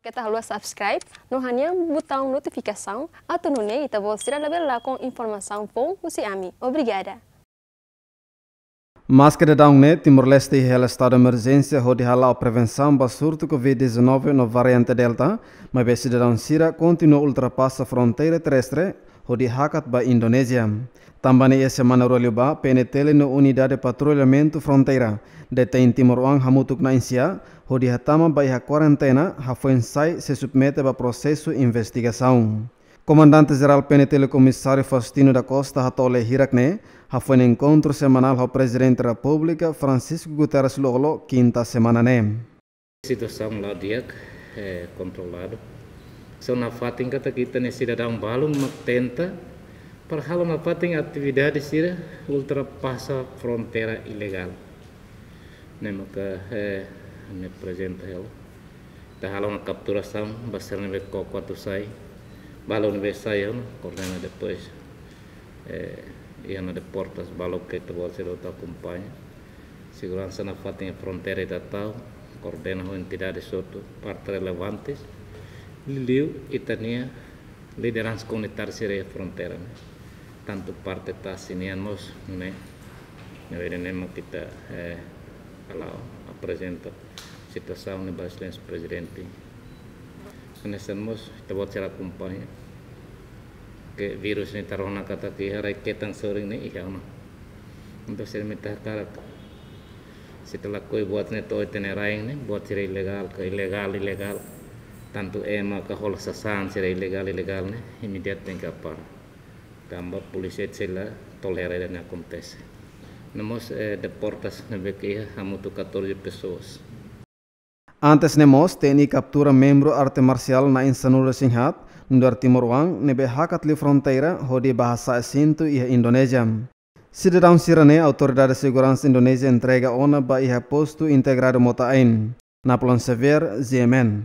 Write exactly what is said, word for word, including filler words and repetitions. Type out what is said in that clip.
Keta haluha subscribe no hanehan butaun notifikasaun atu nune'e ita-boot sira labele lakon informasaun foun husi ami. Obrigada. Maske daudaun ne'e Timor-Leste iha hela estadu emerjénsia hodi hala'o prevensaun ba surtu covid dezanove no variante Delta, maibé sidadaun sira kontinua ultrapasa fronteira terrestre hodi hakat ba Indonézia. Tanba ne'e iha semana rua liubá, P N T L no Unidade Patrullamentu Fronteira detein timoroan hamutuk na'in-sia hodi hatama ba iha kuarentena hafoin sai sei submete ba prosesu investigasaun. Komandante Jerál P N T L Komisáriu Faustino da Costa hato'o lee hirak ne'e hafoin enkontru semanál ho Prezidente Repúblika Francisco Guterres Lú-Olo kinta semana ne'e. Situasaun la'o di'ak, eh, kontroladu. Só nafatin katak ita-nia sidadaun balun mak tenta para halo nafatin atividade sira ultrapasa fronteira ilegál. Ne'e maka, eh, ami aprezenta hela. Ita halo ona kapturasaun ba sira ne'ebé koko atu sai. Balu ne'ebé sai ona, koordena depois, eh, iha ona deportas, balu ke ita-boot sira hotu akompaña. Seguransa nafatin iha fronteira ita tau, koordena ho entidades hotu, parte relevantes. Liuliu ita-nia lideransa komunitária sira iha fronteira ne'e. Tantu parte tasi nian mós ne'e. Ne'ebé ne'e mak ita, eh, hala'o aprezenta situasaun ne'e ba Exelénsia Prezidente. Hanesan mós ita-boot sira akompaña ke vírus ne'e ita rona katak iha rai-ketan sorin ne'e iha ona. Entaun sira mak ita hakarak, se ita lakohi buat ne'e to'o ita-nia rain ne'e, buat sira ilegál ka ilegál, ilegál. Tantu ema ka hola sasán sira ilegál, ilegál ne'e, imediatu tenke para. Tanba polísia sei la tolera ida-ne'e akontese. No mós, eh, deportas ne'ebé ke iha hamutuk catorze pessoas. Antes ne'e mós, T N I kaptura membru arte marsiál na'in sanulu-resin-haat, nu'udar timoroan, ne'ebé hakat liu fronteira hodi bá hasa'e sintu iha Indonézia. Sidadaun sira-ne'e autoridade seguransa Indonézia entrega ona ba iha postu integradu Mota Ain. Napoleon Xavier, G M N.